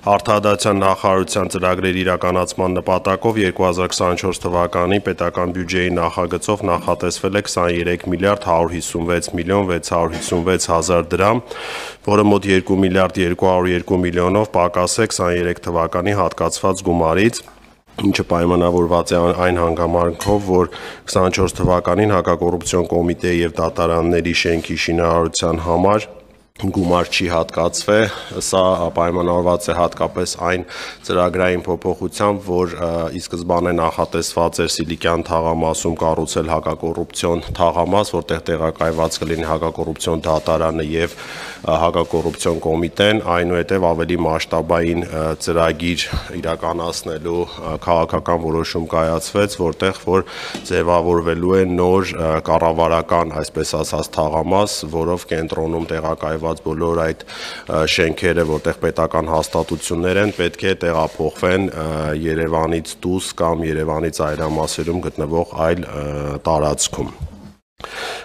Արտահայտության նախարարության ծրագրերի իրականացման նպատակով 2024 թվականի պետական բյուջեի նախագծով նախատեսվել է 23 միլիարդ 156 միլիոն 656 հազար դրամ, որը մոտ 2 միլիարդ 202 միլիոնով պակաս է 23 թվականի հատկացված գումարից, ինչը պայմանավորված է այն հանգամանքով, որ 24 թվականին հակակոռուպցիոն կոմիտեի և դատարանների շենքի շինարարության համար գումար չի հատկացվել, սա պայմանավորված է հատկապես այն ծրագրային փոփոխությամբ, որ ի սկզբանե նախատեսված էր Սիլիկյան թաղամասում կառուցել հակակոռուպցիոն թաղամաս, որտեղ տեղակայված կլինի հակակոռուպցիոն դատարանը եւ հակակոռուպցիոն կոմիտեն, այնուհետև ավելի մասշտաբային ծրագիր իրականացնելու քաղաքական որոշում կայացվեց, որտեղ որ ձևավորվելու է նոր կառավարական, այսպես ասած, թաղամաս, որով կենտրոնում տեղակայված բոլոր այդ շենքերը, որտեղ պետական հաստատություններ են, պետք է տեղափոխվեն Երևանից դուրս կամ Երևանի ծայրամասերում գտնվող այլ տարածքում։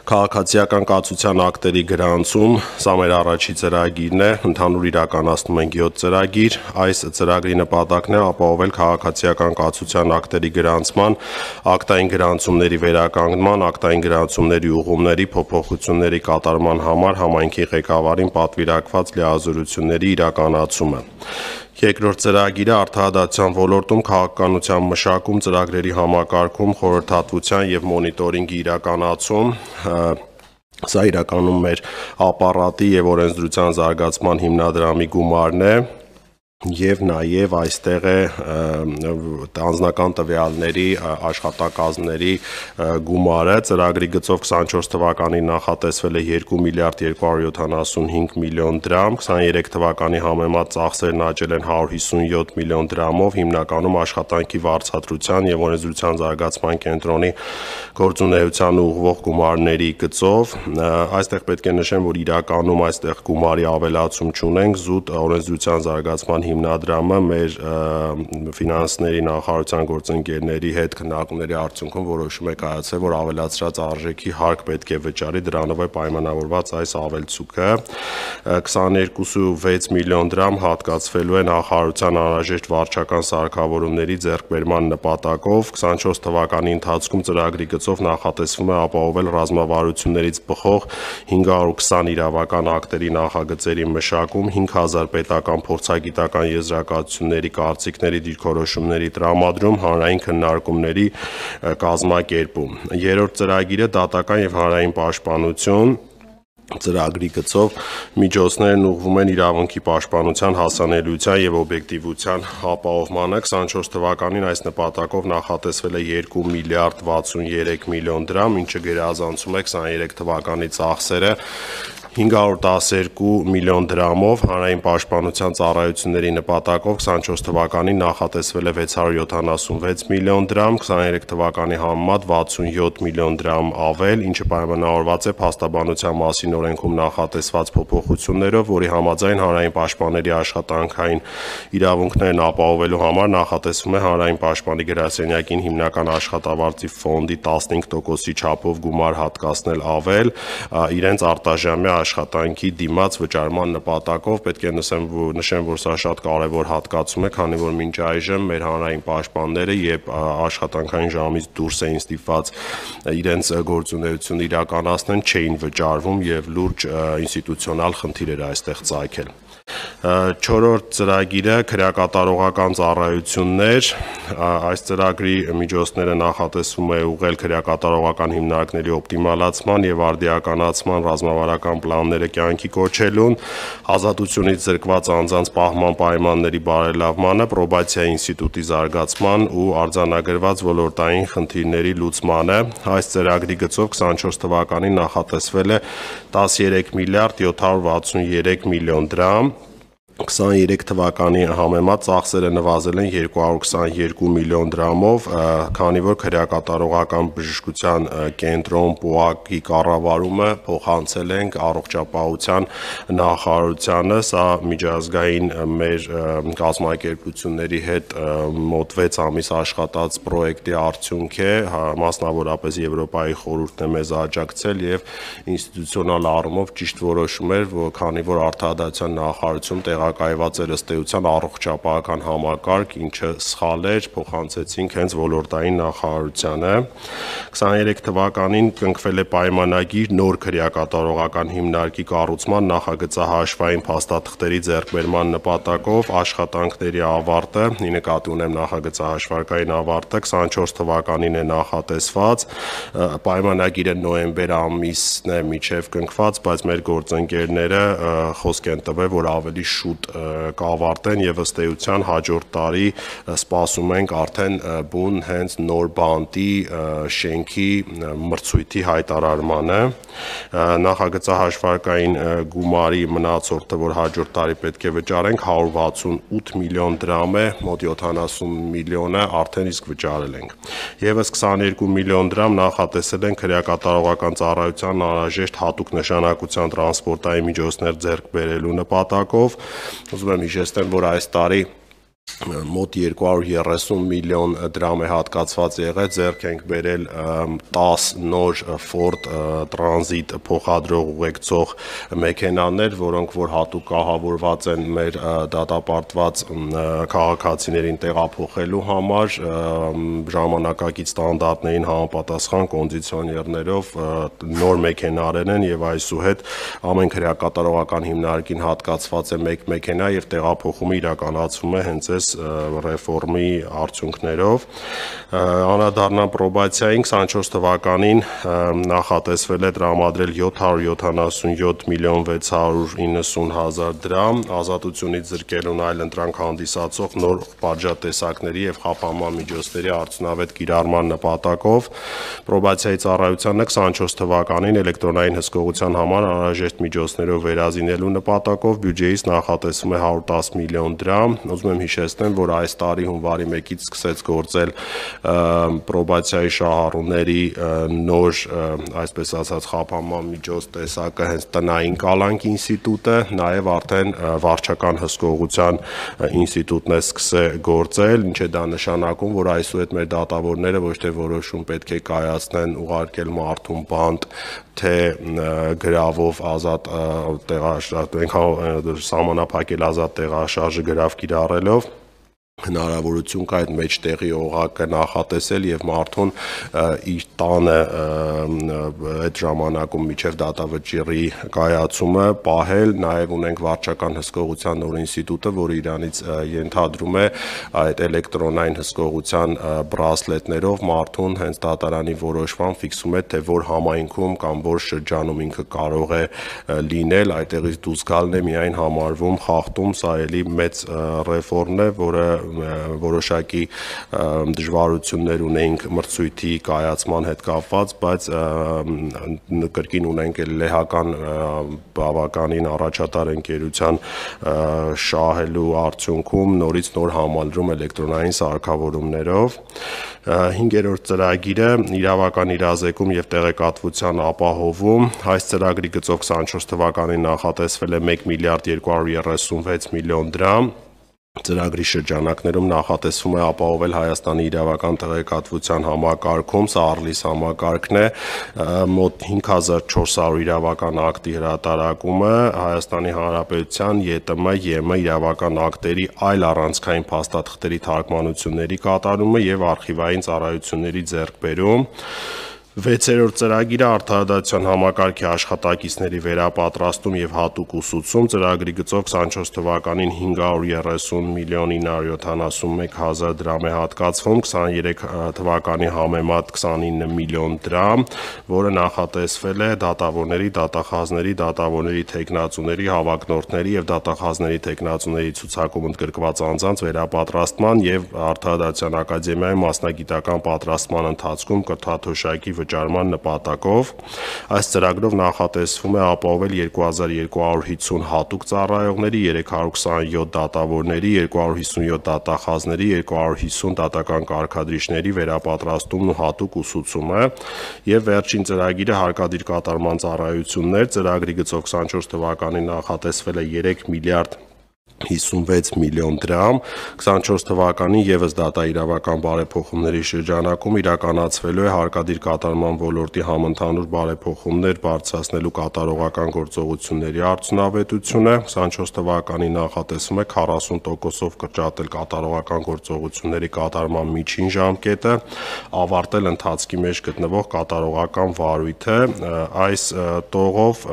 Քաղաքացիական կացության ակտերի գրանցում, սա մեր առաջի ծրագիրն է, ընդհանուր իրականացնում ենք 7 ծրագիր, այս ծրագրի նպատակն է ապահովել քաղաքացիական կացության ակտերի գրանցման, ակտային գրանցումների վերականգնման, ակտային գրանցումների ուղղումների փոփոխությունների կատարման համար համայնքի ղեկավարին պատվիրակված լիազորությունների իրականացումը։ Երկրորդ ծրագիրը արտահայտության ոլորտում քաղաքականության մշակում, ծրագրերի համակարգում, խորհրդատվության և մոնիտորինգի իրականացում, սա իրականում մեր ապարատի և օրենսդրության զարգացման հիմնադրամի գումարն է և նաև այստեղ է անձնական տվյալների աշխատակազմների գումարը, ծրագրի գծով 24 թվականին նախատեսվել է 2 միլիարդ 275 միլիոն դրամ, 23 թվականի համեմատ ծախսերն աճել են 157 միլիոն դրամով, հիմնականում աշխատանքի վարձատրության և օրենսդրության զարգացման կենտրոնի գործունեությանը ուղղվող գումարների գծով, այստեղ պետք է նշեմ, որ իրականում այստեղ գումարի ավելացում չունենք, զուտ օրենսդրության զարգացման հիմնադրամը մեր ֆինանսների նախարարության գործընկերների հետ քննարկումների արդյունքում որոշում է կայացել, որ ավելացրած արժեքի հարկ պետք է վճարի, դրանով է պայմանավորված այս ավելցուկը, 22.6 միլիոն դրամ հատկացվելու է նախարարության անհրաժեշտ վարչական սարքավորումների ձեռքբերման նպատակով, 24 թվականի ընթացքում ծրագրի գծով նախատեսվում է ապահովել ռազմավարություններից բխող 520 իրավական ակտերի նախագծերի մշակում, 5000 պետական փորձագիտական եզրակացությունների, կարծիքների, դիրքորոշումների տրամադրում, հանրային քննարկումների կազմակերպում։ Երրորդ ծրագիրը դատական և հանրային պաշտպանություն ծրագրի գծով միջոցներն ուղղվում են իրավունքի պաշտպանության, հասանելիության և օբյեկտիվության ապահովմանը, 24 թվականին այս նպատակով նախատեսվել է 2 միլիարդ 63 միլիոն դրամ, ինչը գերազանցում է 23 թվականի ծախսերը 512 միլիոն դրամով, հանրային պաշտպանության ծառայությունների նպատակով 24 թվականին նախատեսվել է 676 միլիոն դրամ, 23 թվականի համեմատ 67 միլիոն դրամ ավել, ինչը պայմանավորված է փաստաբանության մասին օրենքում նախատեսված փոփոխություններով, որի համաձայն հանրային պաշտպանների աշխատանքային իրավունքներն ապահովելու համար նախատեսվում է հանրային պաշտպանի գրասենյակին հիմնական աշխատավարձի ֆոնդի 15%-ի չափով գումար հատկացնել ավել, իրենց արտաժամյա աշխատանքի դիմաց վճարման նպատակով, պետք է նշեմ, որ սա շատ կարևոր հատկացում է, քանի որ մինչ այժմ մեր հանրային պաշտպանները, երբ աշխատանքային ժամից դուրս էին ստիպված իրենց գործունեությունը իրականացնեն, չէին վճարվում և լուրջ ինստիտուցիոնալ խնդիր էր այստեղ ծագել։ Չորրորդ ծրագիրը քրեակատարողական ծառայություններ, այս ծրագրի միջոցները նախատեսվում է ուղղել քրեակատարողական հիմնարկների օպտիմալացման և արդիականացման ռազմավարական պլանները կյանքի կոչելուն, ազատությունից զրկված անձանց պահման պայմանների բարելավմանը, պրոբացիայի ինստիտուտի զարգացման ու արձանագրված ոլորտային խնդիրների լուծմանը, այս ծրագրի գծով 24 թվականին նախատեսվել է 13 միլիարդ 763 միլիոն դրամ, 23 թվականի համեմատ ծախսերը նվազել են 222 միլիոն դրամով, քանի որ քրեակատարողական բժշկության կենտրոն ՊՕԱԿ-ի կառավարումը փոխանցել ենք առողջապահության նախարարությանը, սա միջազգային մեր կազմակերպությունների հետ մոտ 6 ամիս աշխատած պրոյեկտի արդյունք է, մասնավորապես Եվրոպայի խորհուրդն է մեզ աջակցել և ինստիտուցիոնալ առումով ճիշտ որոշում էր, քանի որ արտահայտության նախարարությունում տեղակայված էր ըստ էության առողջապահական համակարգ, ինչը սխալ էր, փոխանցեցինք հենց ոլորտային նախարարությանը։ 23 թվականին կնքվել է պայմանագիր նոր քրեակատարողական հիմնարկի կառուցման նախագծահաշվային փաստաթղթերի ձեռքբերման նպատակով աշխատանքների ավարտը, ի նկատի ունեմ նախագծահաշվարկային ավարտը 24 թվականին է նախատեսված, պայմանագիրը նոյեմբեր ամիսն է միջև կնքված, բայց մեր գործընկերները խոսք են տվել, որ ավելի շուտ կավարտեն եւ ըստ էության հաջորդ տարի սպասում ենք արդեն բուն հենց նոր բանտի շենքի մրցույթի հայտարարմանը։ Նախագծահաշվարկային գումարի մնացորդը, որ հաջորդ տարի պետք է վճարենք, 168 միլիոն դրամ է, մոտ 70 միլիոնը արդեն իսկ վճարել ենք։ Եվս 22 միլիոն դրամ նախատեսել են քրեակատարողական ծառայության անհրաժեշտ հատուկ նշանակության տրանսպորտային միջոցներ ձեռք բերելու նպատակով։ Ուզում եմ հիշեցնել, որ այս տարի մոտ 230 միլիոն դրամ է հատկացված եղել, ձեռք ենք բերել 10 նոր Ford Transit փոխադրող ուղեկցող մեքենաներ, որոնք որ հատուկ կահավորված են մեր դատապարտված քաղաքացիներին տեղափոխելու համար, ժամանակակից ստանդարտներին համապատասխան կոնդիցիոներներով նոր մեքենաներ են եւ այսուհետ ամեն քրեակատարողական հիմնարկին հատկացված է մեկ մեքենա եւ տեղափոխումը իրականացվում է հենց ռեֆորմի արդյունքներով։ Անդրադառնամ պրոբացիային 24 թվականին նախատեսվել է տրամադրել 777 միլիոն 690 հազար դրամ, ազատությունից զրկելուն այլ ընտրանք հանդիսացող նոր պատժատեսակների եւ խափանման միջոցների արդյունավետ կիրառման նպատակով պրոբացիայի ծառայությանը 24 թվականին էլեկտրոնային հսկողության համար անհրաժեշտ միջոցներով վերազինելու նպատակով բյուջեից նախատեսվում է 110 միլիոն դրամ։ Ուզում եմ հիշեցնեմ, որ այս տարի հունվարի 1-ից սկսեց գործել պրոբացիայի շահառուների նոր, այսպես ասած, խափանման միջոց տեսակը հենց տնային կալանք ինստիտուտը, նաև արդեն վարչական հսկողության ինստիտուտն է սկսել գործել, ինչ է դա նշանակում, որ այսուհետ մեր դատավորները ոչ թե որոշում պետք է կայացնեն ուղարկել մարդուն բանտ, թե գրավով ազատ սահմանափակել ազատ տեղաշարժը գրավ կիրառելով, հնարավորություն կա այդ մեջտեղի օղակը նախատեսել եւ մարդուն իր տանը այդ ժամանակում միջև դատավճիռի կայացումը պահել, նաեւ ունենք վարչական հսկողության նոր ինստիտուտը, որը իրանից ենթադրում է այդ էլեկտրոնային հսկողության բրասլետներով մարդուն հենց դատարանի որոշման ֆիքսում է, թե որ համայնքում կամ որ շրջանում ինքը կարող է լինել, այդտեղից դուրս գալն է միայն համարվում խախտում, սա էլի մեծ ռեֆորմն է, որը որոշակի դժվարություններ ունենք մրցույթի կայացման հետ կապված, բայց կրկին ունենք լեհական բավականին առաջատար ընկերության շահելու արդյունքում նորից նոր համալրում էլեկտրոնային սարքավորումներով։ 5-րդ ծրագիրը իրավական իրազեկում եւ տեղեկատվության ապահովում, այս ծրագրի գծով 24 թվականին նախատեսվել է 1 միլիարդ 236 միլիոն դրամ։ Ծրագրի շրջանակներում նախատեսվում է ապահովել Հայաստանի իրավական տեղեկատվության համակարգում, սա Arlis համակարգն է, մոտ 5400 իրավական ակտի հրատարակումը, Հայաստանի Հանրապետության ԵՏՄ, ԵՄ իրավական ակտերի այլ առանցքային փաստաթղթերի թարգմանությունների կատարումը եւ արխիվային ծառայությունների ձեռքբերում։ 6-րդ ծրագիրը արդարադատության համակարգի աշխատակիցների վերապատրաստում եւ հատուկ ուսուցում, ծրագրի գծով 24 թվականին 530 միլիոն 971 հազար դրամ է հատկացվում, 23 թվականի համեմատ 29 միլիոն դրամ, որը նախատեսվել է դատավորների, դատախազների, դատավորների թեկնածուների, հավակնորդների եւ դատախազների թեկնածուների ցուցակում ընդգրկված անձանց վերապատրաստման եւ արդարադատության ակադեմիայի մասնագիտական պատրաստման ընթացքում կրթաթոշակի վճարման նպատակով։ Այս ծրագրով նախատեսվում է ապահովել 2250 հատուկ ծառայողների, 327 դատավորների, 257 դատախազների, 250 դատական կարգադրիչների վերապատրաստումն ու հատուկ ուսուցումը եւ վերջին ծրագիրը հարկադիր կատարման ծառայություններ, ծրագրի գծով 24 թվականին նախատեսվել է 3 միլիարդ 56 միլիոն դրամ, 24 թվականին եւս դատաիրավական բարեփոխումների շրջանակում իրականացվելու է հարկադիր կատարման ոլորտի համընդհանուր բարեփոխումներ բարձրացնելու կատարողական գործողությունների արդյունավետությունը, 24 թվականին նախատեսվում է 40%-ով կրճատել կատարողական գործողությունների կատարման միջին ժամկետը, ավարտել ընթացքի մեջ գտնվող կատարողական վարույթը, այս տողով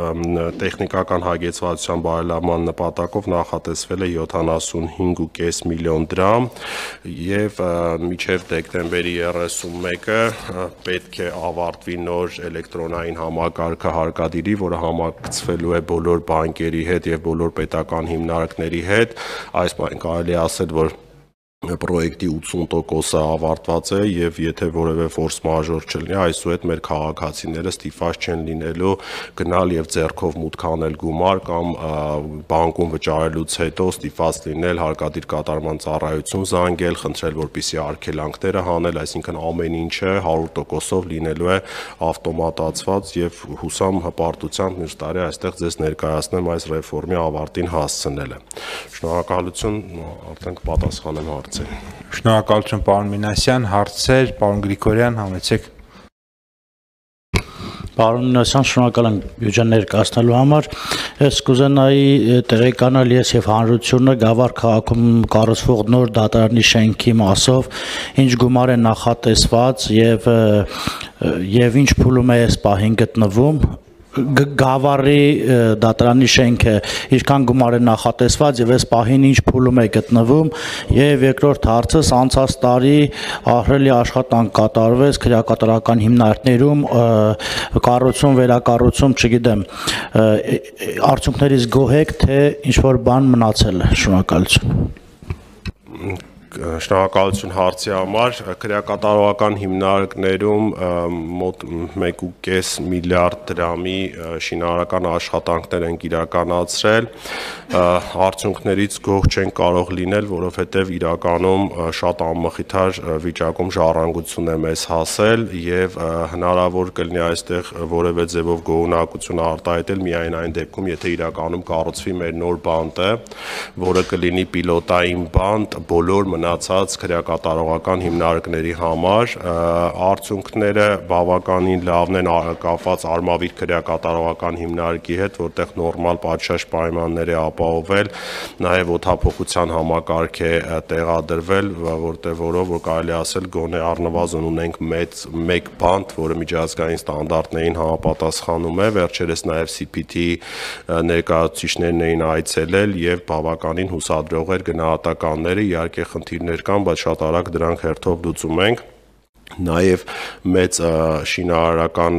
տեխնիկական հագեցվածության բարելավման նպատակով նախատեսվել 75.5 միլիոն դրամ եւ մինչեւ դեկտեմբերի 31-ը պետք է ավարտվի նոր էլեկտրոնային համակարգը հարկադիրի, որը համակցվելու է բոլոր բանկերի հետ եւ բոլոր պետական հիմնարկների հետ, այս բան կարելի ասել, որ պրոյեկտի 80%-ը ավարտված է եւ եթե որևէ ֆորս մաժոր չլինի, այսուհետ մեր քաղաքացիները ստիպված չեն լինելու գնալ եւ ձեռքով մուտք անել գումար կամ բանկում վճարելուց հետո ստիպված լինել հարկադիր կատարման ծառայություն զանգել, խնդրել, որպեսզի արգելանքները հանել, այսինքն ամեն ինչը 100%-ով լինելու է ավտոմատացված եւ հուսամ հպարտությամբ մյուս տարի այստեղ ձեզ ներկայացնեմ այս ռեֆորմի ավարտին հասցնելը։ Շնորհակալություն, արդեն կպատասխանեմ հարցերին։ Շնորհակալություն պարոն Մինասյան, հարցեր, պարոն Գրիգորյան, համեցեք։ Պարոն Մինասյան, շնորհակալ եմ բյուջեն ներկայացնելու համար։ Ես կուզենայի տեղեկանալ ես եւ հանրությունը Գավառ քաղաքում կառուցվող նոր դատարանի շենքի մասով ինչ գումար է նախատեսված եւ ինչ փուլում է այս պահին գտնվում։ Գավառի դատարանի շենքը ինչքան գումար է նախատեսված եւ այս պահին ինչ փուլում է գտնվում եւ երկրորդ հարցս անցած տարի ահռելի աշխատանք կատարվեց քրեակատարական հիմնարկներում կառուցում վերակառուցում չգիտեմ արդյունքներից գոհ եք թե ինչ որ բան մնացել է շնորհակալություն Շնորհակալություն հարցի համար, քրեակատարողական հիմնարկներում մոտ 1.5 միլիարդ դրամի շինարարական աշխատանքներ են իրականացրել, արդյունքներից գոհ չեն կարող լինել, որովհետև իրականում շատ անմխիթար վիճակում ժառանգություն է մեզ հասել եւ հնարավոր կլինի այստեղ որևէ ձևով գոհունակություն արտահայտել միայն այն դեպքում, եթե իրականում կառուցվի մեր նոր բանտը, որը կլինի պիլոտային բանտ բոլոր մնացած քրեակատարողական հիմնարկների համար, արդյունքները բավականին լավն են կապված Արմավիր քրեակատարողական հիմնարկի հետ, որտեղ նորմալ պատշաճ պայմաններ է ապահովել, նաև օդափոխության համակարգ է տեղադրվել, որով որ կարելի ասել գոնե առնվազն ունենք մեկ բանտ, որը միջազգային ստանդարտներին համապատասխանում է, վերջերս նաև CPT ներկայացուցիչներն էին այցելել եւ բավականին հուսադրող էր գնահատականները, իհարկե խնդիրներ կան, բայց շատ արագ դրանք հերթով լուծում ենք։ Նաև մեծ շինարարական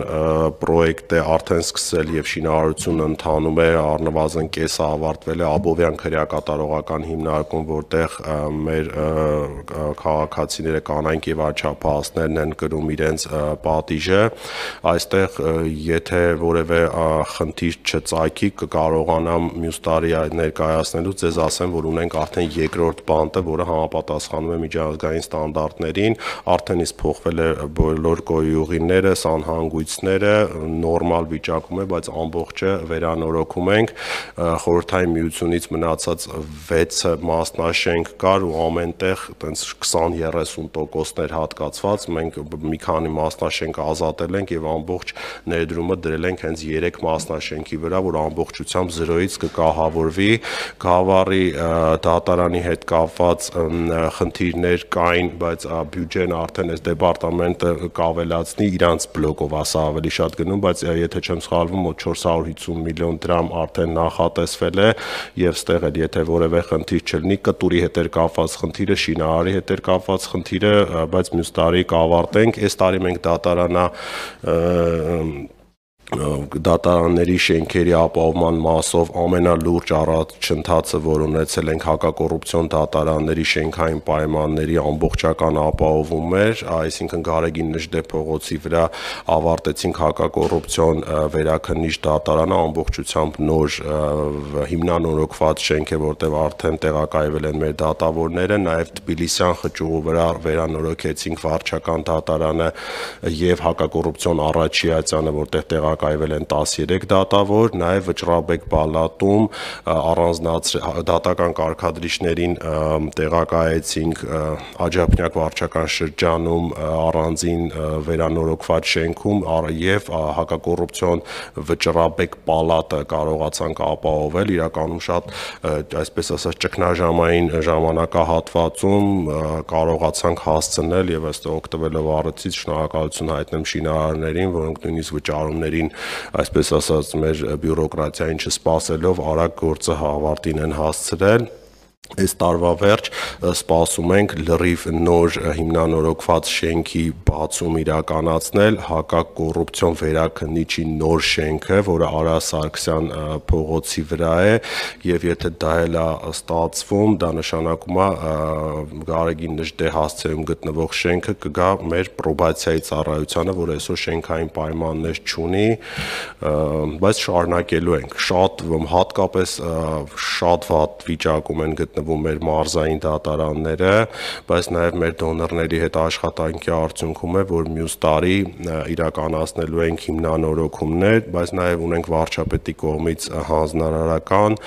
պրոյեկտ է արդեն սկսել եւ շինարարությունը ընթանում է, առնվազն կեսը ավարտվել է Աբովյան քրեակատարողական հիմնարկում, որտեղ մեր քաղաքացիները կանայք եւ աչափահասներն են կրում իրենց պատիժը, այստեղ եթե որևէ խնդիր չծագի, կկարողանամ մյուս տարի ներկայացնելու ձեզ ասեմ, որ ունենք արդեն երկրորդ բանտը, որը համապատասխանում է միջազգային ստանդարտներին, արդեն իսկ փոխվել է բոլոր գոյուղիները, սանհանգույցները, նորմալ վիճակում է, բայց ամբողջը վերանորոգում ենք, խորհրդային միությունից մնացած 6 մասնաշենք կար ու ամենտեղ տենց 20-30%-ներ հատկացված, մենք մի քանի մասնաշենք ազատել ենք եւ ամբողջ ներդրումը դրել ենք հենց 3 մասնաշենքի վրա, որ ամբողջությամբ 0-ից կկահավորվի, Գավառի դատարանի հետ կապված խնդիրներ կային, բայց բյուջեն արդեն այս դեպարտամենտը կավելացնի իրանց բլոկով, ասա ավելի շատ գնում, բայց եթե չեմ սխալվում, մոտ 450 միլիոն դրամ արդեն նախատեսվել է եւ ստեղ էլ եթե որևէ խնդիր չլինի, կտուրի հետ էր կապված խնդիրը, շինարարի հետ էր կապված խնդիրը, բայց մյուս տարի կավարտենք, այս տարի մենք դատարանների շենքերի ապահովման մասով ամենալուրջ առաջընթացը, որ ունեցել ենք հակակոռուպցիոն դատարանների շենքային պայմանների ամբողջական ապահովում էր, այսինքն Գարեգին Նժդե փողոցի վրա ավարտեցինք հակակոռուպցիոն վերաքննիչ դատարանը, ամբողջությամբ նոր հիմնանորոգված շենք է, որտեղ արդեն տեղակայվել են մեր դատավորները, նաև Թբիլիսյան խճուղու վրա վերանորոգեցինք վարչական դատարանը եւ հակակոռուպցիոն առաջիացանը, որտեղ տեղակայվել են 13 դատավոր, նաև Վճռաբեկ պալատում դատական կարգադրիչներին տեղակայեցինք Աջափնյակ վարչական շրջանում առանձին վերանորոգված շենքում եւ հակակոռուպցիոն Վճռաբեկ պալատը կարողացանք ապահովել, իրականում շատ այսպես ասած ճգնաժամային ժամանակահատվածում կարողացանք հասցնել եւ ըստ օգտվելով առիթից շնորհակալություն հայտնեմ շինարարներին, որոնք նույնիսկ վճարումներին, այսպես ասած, մեր բյուրոկրատիային չսպասելով արագ գործը ավարտին են հասցրել։ Այս տարվա վերջ սպասում ենք լրիվ նոր հիմնանորոգված շենքի բացում իրականացնել հակակոռուպցիոն վերաքննիչի նոր շենքը, որը Արա Սարգսյան փողոցի վրա է, եւ եթե դա էլ է ստացվում, դա նշանակում է Գարեգին Նժդե հասցեում գտնվող շենքը կգա մեր պրոբացիայի ծառայությանը, որ այսօր շենքային պայմաններ չունի, բայց շարունակելու ենք։ Շատ հատկապես շատ վատ վիճակում են գտնվում մեր մարզային դատարանները, բայց նաև մեր դոնորների հետ աշխատանքի արդյունքում է, որ մյուս տարի իրականացնելու ենք հիմնանորոգումներ, բայց նաև ունենք վարչապետի կողմից հանձնարարական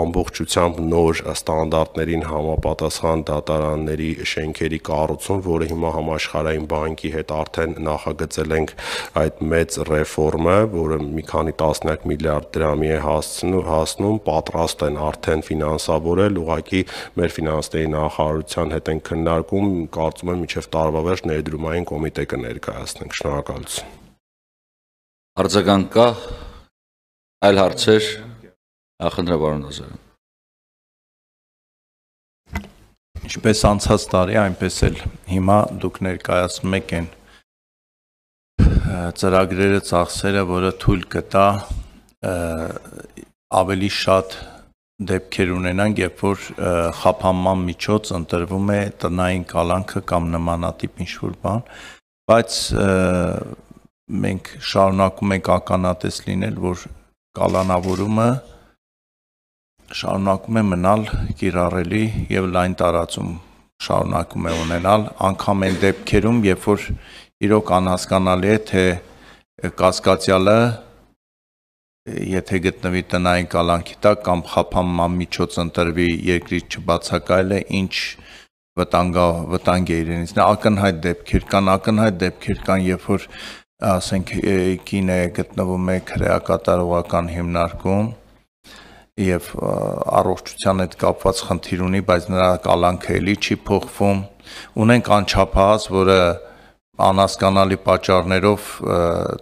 ամբողջությամբ նոր ստանդարտներին համապատասխան դատարանների շենքերի կառուցում, որը հիմա համաշխարհային բանկի հետ արդեն նախագծել ենք այդ մեծ ռեֆորմը, որը մի քանի տասնյակ միլիարդ դրամի է հասնում, պատրաստ են արդեն ֆինանսավորել, ուղղակի մեր ֆինանսների նախարարության հետ են քննարկում, կարծում եմ մինչև տարվա վերջ ներդրումային կոմիտե կներկայացնենք։ Շնորհակալություն։ Արձագանք կա, այլ հարցեր, խնդրեմ պարոն Նազարյան։ Ինչպես անցած տարի, այնպես էլ հիմա դուք ներկայացնում եք այն ծրագրերը, ծախսերը, որը թույլ կտա ավելի շատ դեպքեր ունենանք, երբ որ խափանման միջոց ընտրվում է տնային կալանքը կամ նմանատիպ ինչ-որ բան, բայց մենք շարունակում ենք ականատես լինել, որ կալանավորումը շարունակում է մնալ կիրառելի եւ լայն տարածում շարունակում է ունենալ, անգամ այն դեպքերում, երբ որ իրոք անհասկանալի է, թե կասկածյալը եթե գտնվի տնային կալանքի տակ կամ խափանման միջոց ընտրվի երկրից չբացակայելը, ինչ վտանգ է իրենից։ Ակնհայտ դեպքեր կան, երբ որ ասենք կինը գտնվում է քրեակատարողական հիմնարկում եւ առողջության հետ կապված խնդիր ունի, բայց նրա կալանքը էլի չի փոխվում։ Ունենք անչափահաս, որը անհասկանալի պատճառներով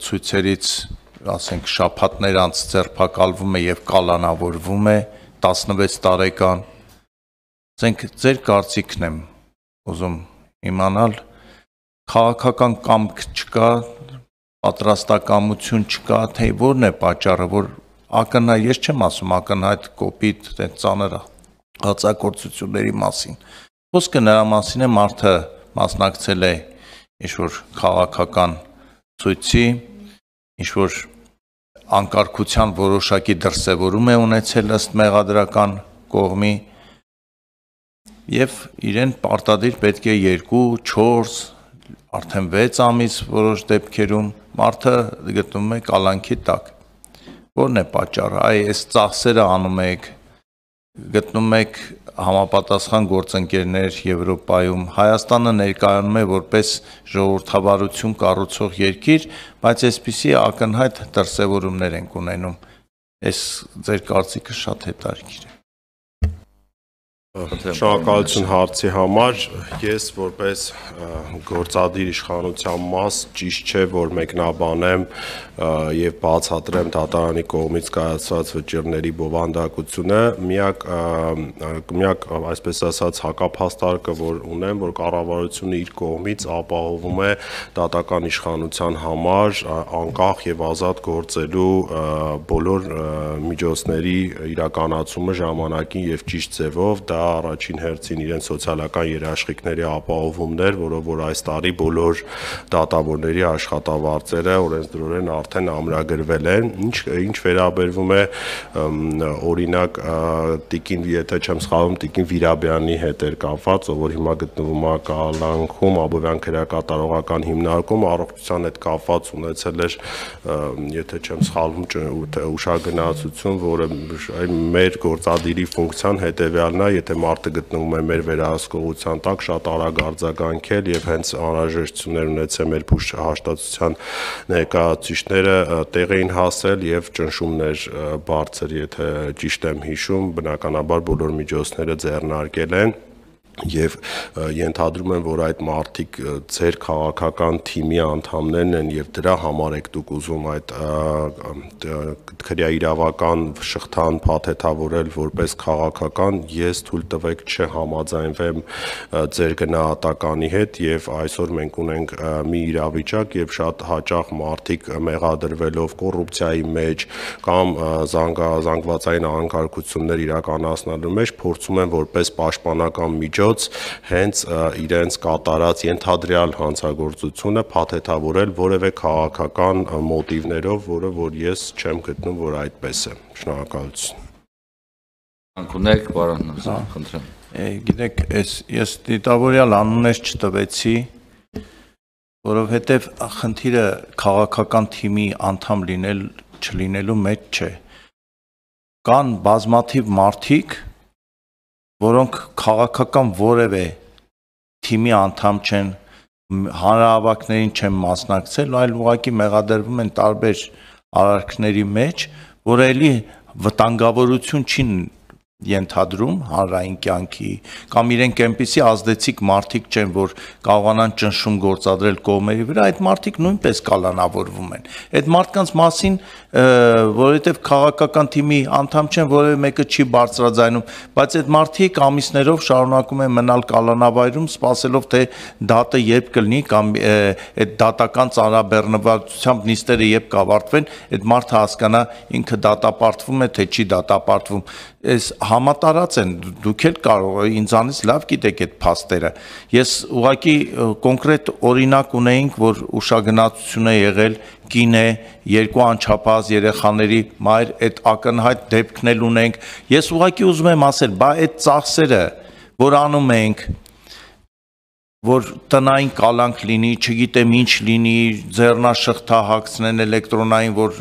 ցույցերից ասենք շաբաթներ անց ձերբակալվում է եւ կալանավորվում է 16 տարեկան։ Ասենք ձեր կարծիքն եմ ուզում իմանալ, քաղաքական կամք չկա, պատրաստակամություն չկա, թե որն է պատճառը, որ ակնհայտ, ես չեմ ասում ակնհայտ կոպիտ ծանր հացակործությունների մասին։ Խոսքը նրա մասին է, մարդը մասնակցել է ինչ-որ քաղաքական ցույցի, ինչ-որ անկարգության որոշակի դրսևորում է ունեցել ըստ մեղադրական կողմի եւ իրեն պարտադիր պետք է 2-4, արդեն 6 ամիս որոշ դեպքերում մարդը գտնվում է կալանքի տակ։ Որն է պատճառը։ Այս ծախսերը անում եք, գտնում եք համապատասխան գործընկերներ Եվրոպայում, Հայաստանը ներկայանում է որպես ժողովրդավարություն կառուցող երկիր, բայց այսպիսի ակնհայտ դրսևորումներ ենք ունենում։ Այս ձեր կարծիքը շատ հետաքրքիր է։ Շնորհակալություն հարցի համար։ Ես որպես գործադիր իշխանության մաս ճիշտ չէ, որ մեկնաբանեմ եւ բացատրեմ դատարանի կողմից կայացված վճիռների բովանդակությունը։ Միակ այսպես ասած հակափաստարկը, որ ունեմ, որ կառավարությունը իր կողմից ապահովում է դատական իշխանության համար անկախ եւ ազատ գործելու բոլոր միջոցների իրականացումը ժամանակին եւ ճիշտ ձևով, դա դա առաջին հերթին իրենց սոցիալական երաշխիքների ապահովումն էր, որով որ այս տարի բոլոր դատավորների աշխատավարձերը օրենսդրորեն արդեն ամրագրվել են, ինչ վերաբերվում է օրինակ Տիկին, եթե չեմ սխալվում, Տիկին Վիրաբյանի հետ էր կապված, ով որ հիմա գտնվում է կալանքում Աբովյան քրեակատարողական հիմնարկում, առողջության հետ կապված ունեցել էր, եթե չեմ սխալվում, ուշագնացություն, որը մեր գործադիրի ֆունկցիան հետևյալն է, եթե մարդը գտնվում է մեր վերահսկողության տակ, շատ արագ արձագանքել եւ հենց անհրաժեշտություններ ունեցել մեր փուշահաշտացության ներկայացուցիչները տեղ էին հասել եւ ճնշումներ բարձր, եթե ճիշտ եմ հիշում, բնականաբար բոլոր միջոցները ձեռնարկել են եւ ենթադրում եմ, որ այդ մարդիկ ձեր քաղաքական թիմի անդամներն են եւ դրա համար եք դուք ուզում այդ քրեաիրավական շղթան փաթեթավորել որպես քաղաքական, ես թույլ տվեք չհամաձայնվեմ ձեր գնահատականի հետ եւ այսօր մենք ունենք մի իրավիճակ եւ շատ հաճախ մարդիկ մեղադրվելով կոռուպցիայի մեջ կամ զանգվածային անկարգություններ իրականացնելու մեջ փորձում են որպես պաշտպանական միջոց հենց իրենց կատարած ենթադրյալ հանցագործությունը փաթեթավորել որևէ քաղաքական մոտիվներով, որը որ ես չեմ գտնում, որ այդպես է։ Շնորհակալություն։ Անկունեք, պարոն Նազարյան, խնդրեմ։ Գիտեք, ես դիտավորյալ անուններ չտվեցի, որովհետև խնդիրը քաղաքական թիմի անդամ չլինելու մեջ չէ։ Կան բազմաթիվ մարդիկ, որոնք քաղաքական որևէ թիմի անդամ չեն, հանրահավաքներին չեն մասնակցել, այլ ուղղակի մեղադրվում են տարբեր արարքների մեջ, որը էլի վտանգավորություն չի ենթադրում հանրային կյանքի, կամ իրենք այնպիսի ազդեցիկ մարդիկ չեն, որ կարողանան ճնշում գործադրել կողմերի վրա, այդ մարդիկ նույնպես կալանավորվում են։ Այդ մարդկանց մասին, որովհետև քաղաքական թիմի անդամ չեն, որևէ մեկը չի բարձրաձայնում, բայց այդ մարդիկ ամիսներով շարունակում են մնալ կալանավայրում, սպասելով թե դատը երբ կլինի, կամ այդ դատական ծանրաբեռնվածությամբ նիստերը երբ կավարտվեն, այդ մարդը հասկանա ինքը դատապարտվում է, թե չի դատապարտվում։ Այս համատարած են, դուք էլ կարող ինձանից լավ գիտեք այդ փաստերը։ Ես ուղղակի կոնկրետ օրինակ ունեինք, որ ուշագնացություն է եղել, կին է, 2 անչափահաս երեխաների մայր, այդ ակնհայտ դեպքն էլ ունենք։ Ես ուղղակի ուզում եմ ասել, բա այդ ծախսերը, որ անում ենք, որ տնային կալանք լինի, չգիտեմ ինչ լինի, ձեռնաշղթա հագցնեն էլեկտրոնային, որ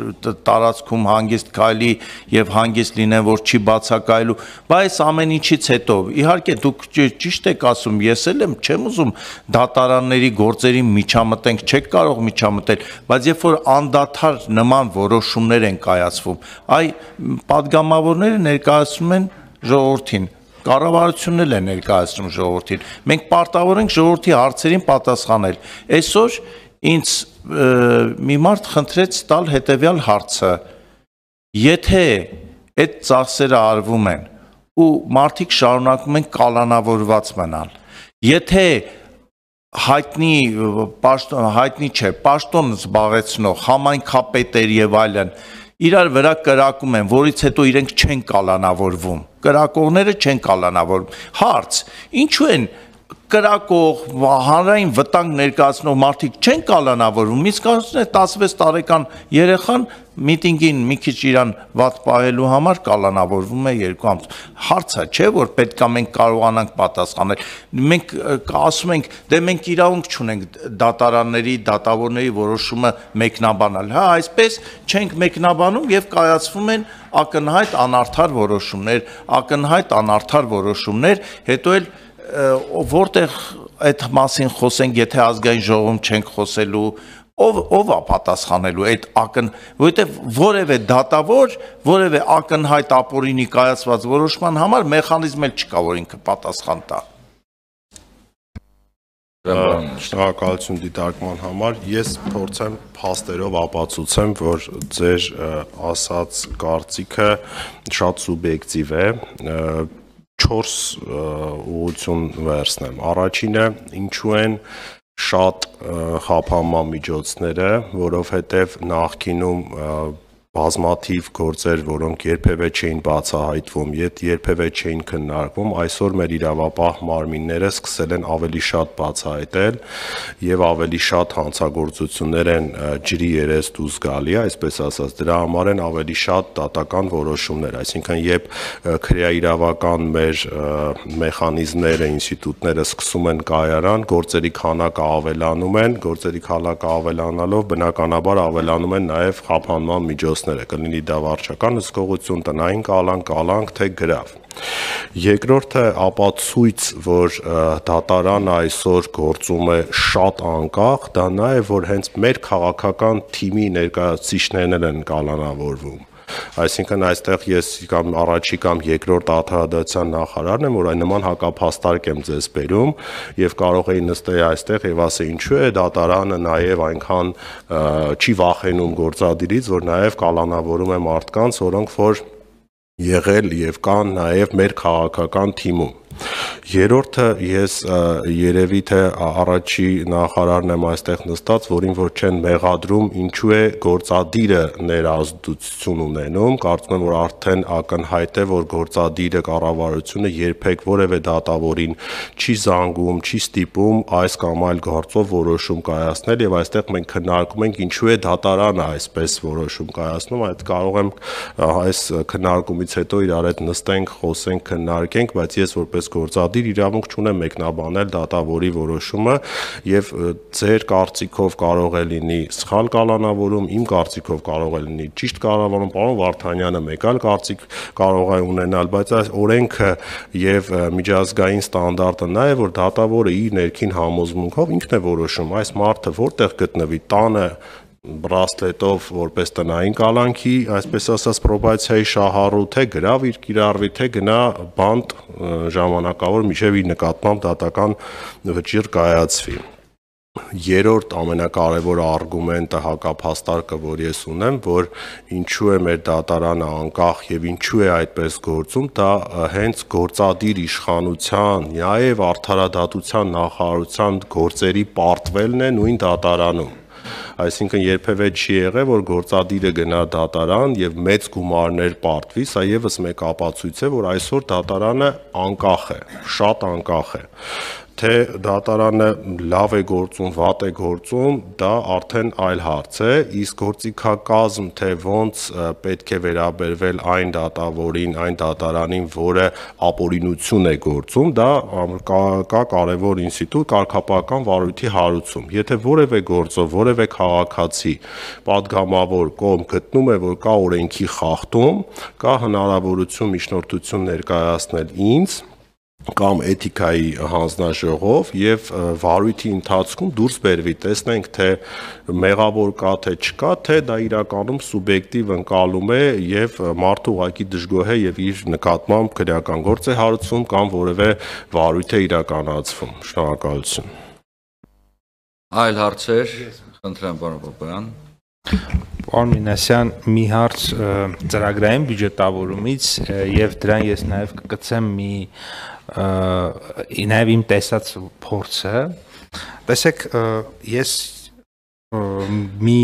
տարածքում հանգիստ քայլի եւ հանգիստ լինեն, որ չի բացակայելու, բայց ամեն ինչից հետո, իհարկե դուք ճիշտ եք ասում, ես էլ եմ, չեմ ուզում դատարանների գործերի միջամտենք, չեք կարող միջամտել, բայց երբ որ անդադար նման որոշումներ են կայացվում, այ падգամավորները ներկայացնում են ժողովրդին, կառավարությունն էլ է ներկայացնում ժողովրդին։ Մենք պարտավոր ենք ժողովրդի հարցերին պատասխանել։ Այսօր ինձ մի մարդ խնդրեց տալ հետևյալ հարցը. եթե այդ ծախսերը արվում են ու մարդիկ շարունակում են կալանավորված մնալ, եթե հայտնի չէ, պաշտոն զբաղեցնող, համայնքապետեր եւ այլն իրար վրա կրակում են, որից հետո իրենք չեն կալանավորվում, կրակողները չեն կալանավորվում։ Հարց, ինչու են կրակող, հանրային վտանգ ներկայացնող մարդիկ չեն կալանավորվում, իսկ 16 տարեկան երեխան միտինգին մի քիչ իրան վատ պահելու համար կալանավորվում է 2 ամս։ Հարցը չէ, որ պետքա մենք կարողանանք պատասխանել։ Մենք ասում ենք, դե մենք իրավունք չունենք դատարանների, դատավորների որոշումը մեկնաբանալ։ Հա, այսպես չենք մեկնաբանում եւ կայացվում են ակնհայտ անարդար որոշումներ, հետո էլ որտեղ այդ մասին խոսենք, եթե ազգային ժողովում չենք խոսելու, ով է պատասխանելու այդ որովհետև որևէ դատավոր, որևէ ակնհայտ ապօրինի կայացված որոշման համար մեխանիզմ էլ չկա, որ ինքը պատասխան տա։ Շնորհակալություն դիտարկման համար։ Ես փորձեմ փաստերով ապացուցեմ, որ ձեր ասած կարծիքը շատ սուբյեկտիվ է։ 4 ուղղություն վերցնեմ։ Առաջինը, ինչու են շատ խափանման միջոցները, որովհետև նախկինում բազմաթիվ գործեր, որոնք երբևէ չէին բացահայտվում, երբևէ չէին քննարկվում, այսօր մեր իրավապահ մարմինները սկսել են ավելի շատ բացահայտել եւ ավելի շատ հանցագործություններ են ջրի երես դուրս գալի, այսպես ասած, դրա համար են ավելի շատ դատական որոշումներ, այսինքն երբ քրեաիրավական մեր մեխանիզմները, ինստիտուտները սկսում են կայարան, գործերի քանակը ավելանում են, գործերի քանակը ավելանալով բնականաբար ավելանում են նաեւ խափանման միջոցներ, կլինի դա վարչական հսկողություն, տնային կալանք, թե գրավ։ Երկրորդը ապացույց, որ դատարանը այսօր գործում է շատ անկախ, դա նա է, որ հենց մեր քաղաքական թիմի ներկայացուցիչներն են կալանավորվում։ Այսինքն այստեղ ես կամ առաջի կամ երկրորդ արդարադատության նախարարն եմ, որ այն նման հակափաստարկ եմ ձեզ բերում եւ կարող էի նստել այստեղ եւ ասել ինչու է դատարանը նաեւ այնքան չի վախենում գործադիրից, որ նաեւ կալանավորում է մարդկանց, որոնք որ եղել եւ կան նաեւ մեր քաղաքական թիմում։ Երրորդը ես երևի թե առաջի նախարարն եմ այստեղ նստած, որին որ չեն մեղադրում, ինչու է գործադիրը ներազդեցություն ունենում, կարծում եմ, որ արդեն ակնհայտ է, որ գործադիրը կառավարությունը երբեք որևէ դատավորին չի զանգում, չի ստիպում այս կամ այլ գործով որոշում կայացնել եւ այստեղ մենք քննարկում ենք ինչու է դատարանը այսպես որոշում կայացնում, այդ կարող եմ այս քննարկումից հետո իրար հետ նստենք, խոսենք, քննարկենք, բայց ես որպես գործադիր իրավունք չունեմ մեկնաբանել դատավորի որոշումը եւ ձեր կարծիքով կարող է լինի սխալ կալանավորում, իմ կարծիքով կարող է լինի ճիշտ կալանավորում, պարոն Վարդանյանը մեկ այլ կարծիք կարող է ունենալ, բայց այս օրենքը եւ միջազգային ստանդարտը նա է, որ դատավորը իր ներքին համոզմունքով ինքն է որոշում այս մարդը որտեղ գտնվի, տանը բրասլետով որպես տնային կալանքի, այսպես ասած պրոբացիայի շահառու, թե գրավ իր կիրառվի, թե գնա բանտ ժամանակավոր մինչև իր նկատմամբ դատական վճիռ կայացվի։ Երրորդ ամենակարևոր արգումենտը հակափաստարկը, որ ես ունեմ, որ ինչու է մեր դատարանը անկախ եւ ինչու է այդպես գործում, դա հենց գործադիր իշխանության, նաեւ արդարադատության նախարարության գործերի պարտվելն է նույն դատարանում։ Այսինքն երբևէ չի եղել, որ գործադիրը գնա դատարան եւ մեծ գումարներ պարտվի, սա եւս մեկ ապացույց է, որ այսօր դատարանը անկախ է, շատ անկախ է։ Թե դատարանը լավ է գործում, վատ է գործում, դա արդեն այլ հարց է, իսկ գործիքակազմ, թե ոնց պետք է վերաբերվել այն դատավորին, այն դատարանին, որը ապօրինություն է գործում, դա կա կարևոր ինստիտուտ կարգապահական վարույթի հարուցում։ Եթե որևէ գործով, որևէ քաղաքացի պատգամավոր կողմ գտնում է, որ կա օրենքի խախտում, կա հնարավորություն միջնորդություն ներկայացնել ինձ կամ էթիկայի հանձնաժողով եւ վարույթի ընթացքում դուրս բերվի, տեսնենք թե մեղավոր կա թե չկա, թե դա իրականում սուբյեկտիվ ընկալում է եւ մարդը ուղղակի դժգոհ է եւ իր նկատմամբ քրեական գործ է հարուցվում կամ որևէ վարույթ է իրականացվում։ Շնորհակալություն։ Այլ հարցեր, խնդրեմ պարոն Պապայան։ Պարոն Մինասյան, մի հարց ծրագրային բյուջետավորումից եւ դրան ես նաեւ կգցեմ նաեւ իմ տեսած փորձը։ Տեսեք, ես մի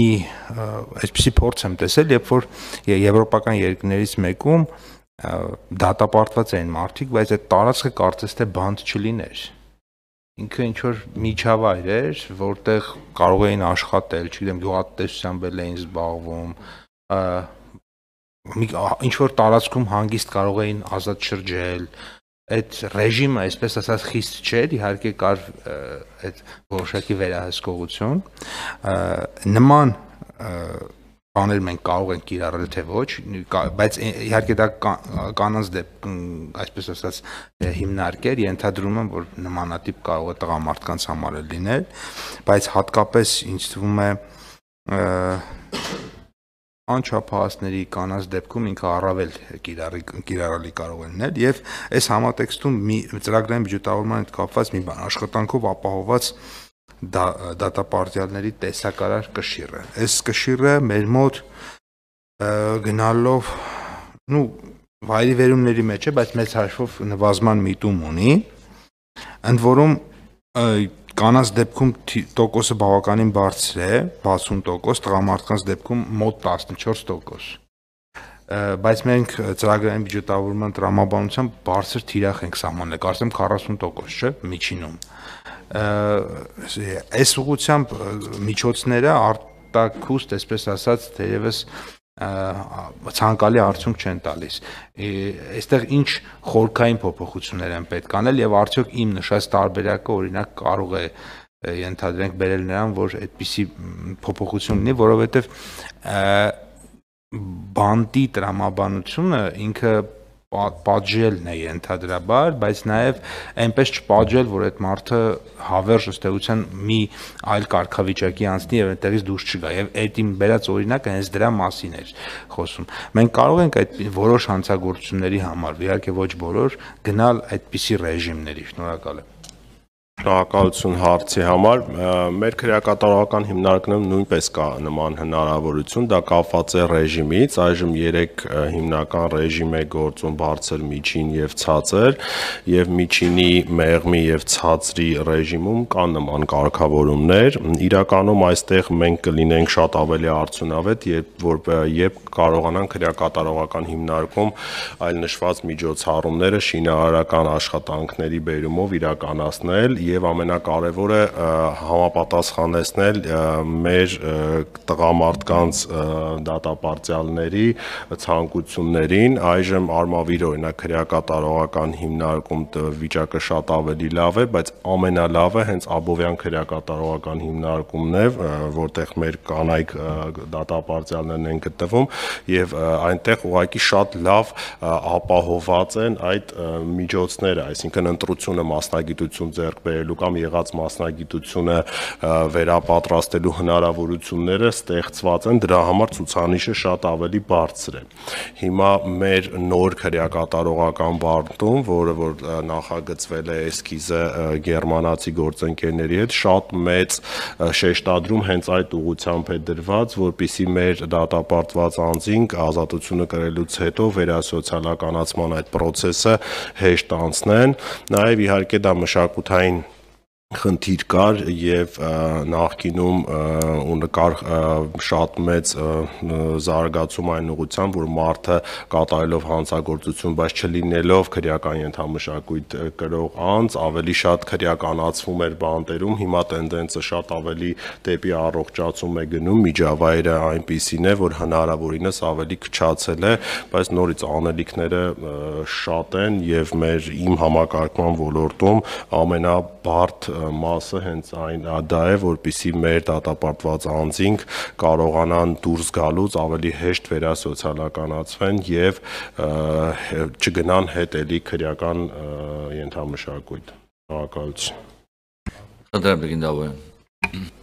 այսպիսի փորձ եմ տեսել, երբ որ եվրոպական երկրներից մեկում դատապարտված էին մարդիկ, բայց այդ տարածքը կարծես թե բանդ չլիներ։ Ինքը ինչ-որ միջավայր էր, որտեղ կարող էին աշխատել, չգիտեմ, գյուղատնտեսությամբ էին զբաղվում, ինչ-որ տարածքում հանգիստ կարող էին ազատ շրջել, այդ ռեժիմը, այսպես ասած, խիստ չէր, իհարկե կար այդ որոշակի վերահսկողություն, նման բաներ մենք կարող ենք կիրառել թե ոչ, բայց իհարկե դա կանանց այսպես ասած հիմնարկեր, ենթադրում եմ, որ նմանատիպ կարող է տղամարդկանց համար լինել, բայց հատկապես ինձ թվում է անչափահասների կանանց դեպքում ինքը առավել կիրառելի կարող է լինել եւ այս համատեքստում մի ծրագրային բյուջետավորման հետ կապված մի բան աշխատանքով ապահովված դատապարտյալների տեսակարար կշիռը։ Այս կշիռը մեր մոտ գնալով, վայրի վերումների մեջ է, բայց մեծ հաշվով նվազման միտում ունի, ընդ որում կանանց դեպքում տոկոսը բավականին բարձր է, 60%, տղամարդկանց դեպքում մոտ 14%։ բայց մենք ծրագրային բյուջետավորման տրամաբանությամբ բարձր թիրախ ենք սահմանել, կարծեմ 40%, չէ՞, միջինում։ Այս ուղղությամբ միջոցները արտաքուստ, այսպես ասած, թերևս ցանկալի արդյունք չեն տալիս։ Այստեղ ինչ խորքային փոփոխություններ են պետք անել եւ արդյոք իմ նշած տարբերակը օրինակ կարող է ենթադրենք բերել նրան, որ այդպիսի փոփոխություն լինի, որովհետեւ բանտի տրամաբանությունը ինքը պատժելն է ենթադրաբար, բայց նաև այնպես չպատժել, որ այդ մարդը հավերժ ըստ էության մի այլ կարգավիճակի անցնի եւ այդտեղից դուրս չգա։ Եվ այդ իմ բերած օրինակը հենց դրա մասին էր խոսում։ Մենք կարող ենք այդ որոշ հանցագործությունների համար, իհարկե ոչ բոլոր, գնալ այդպիսի ռեժիմների։ Շնորհակալ եմ։ Շնորհակալություն հարցի համար։ Մեր քրեակատարողական հիմնարկներում նույնպես կա նման հնարավորություն, դա կապված է ռեժիմից, այժմ 3 հիմնական ռեժիմ է գործում՝ բարձր, միջին եւ ցածր, եւ միջինի, մեղմի եւ ցածրի ռեժիմում կան նման կարգավորումներ։ Իրականում այստեղ մենք կլինենք շատ ավելի արդյունավետ, երբ կարողանանք քրեակատարողական հիմնարկում այլ նշված միջոցառումները շինարարական աշխատանքների բերումով իրականացնել եւ ամենակարևորը համապատասխանեցնել մեր տղամարդկանց դատապարտյալների ցանկություններին։ Այժմ Արմավիր օրինակ քրեակատարողական հիմնարկում վիճակը շատ ավելի լավ է, բայց ամենալավը հենց Աբովյան քրեակատարողական հիմնարկումն է, որտեղ մեր կանայք դատապարտյալներն են գտնվում եւ այնտեղ ուղղակի շատ լավ ապահոված են այդ միջոցները, այսինքն ընտրությունը մասնագիտություն ձեռք բերելու կամ եղած մասնագիտությունը վերապատրաստելու հնարավորությունները ստեղծված են, դրա համար ցուցանիշը շատ ավելի բարձր է։ Հիմա մեր նոր քրեակատարողական բանտում, որը որ նախագծվել է էսքիզը գերմանացի գործընկերների հետ, շատ մեծ շեշտադրում հենց այդ ուղղությամբ է դրված, որպեսզի մեր դատապարտված անձինք ազատությունը կրելուց հետո վերասոցիալականացման այդ process-ը հեշտ անցնեն։ Նաև իհարկե դա մշակութային խնդիր կար եւ նախկինում կար շատ մեծ զարգացում այն ուղղությամբ, որ մարդը կատարելով հանցագործություն, բայց չլինելով քրեական ենթամշակույթ կրող անձ, ավելի շատ քրեականացվում էր բանտերում։ Հիմա տենդենսը շատ ավելի դեպի առողջացում է գնում, միջավայրը այնպիսին է, որ հնարավորինս ավելի քչացել է, բայց նորից անելիքները շատ են եւ իմ համակարգման ոլորտում ամենաբարդ մասը հենց դա է, որպեսզի մեր դատապարտված անձինք կարողանան դուրս գալուց ավելի հեշտ վերասոցիալականացվեն եւ չգնան հետ էլի քրեական ենթամշակույթ։ Շնորհակալություն։ Խնդրեմ, Բեգին Դավոյան։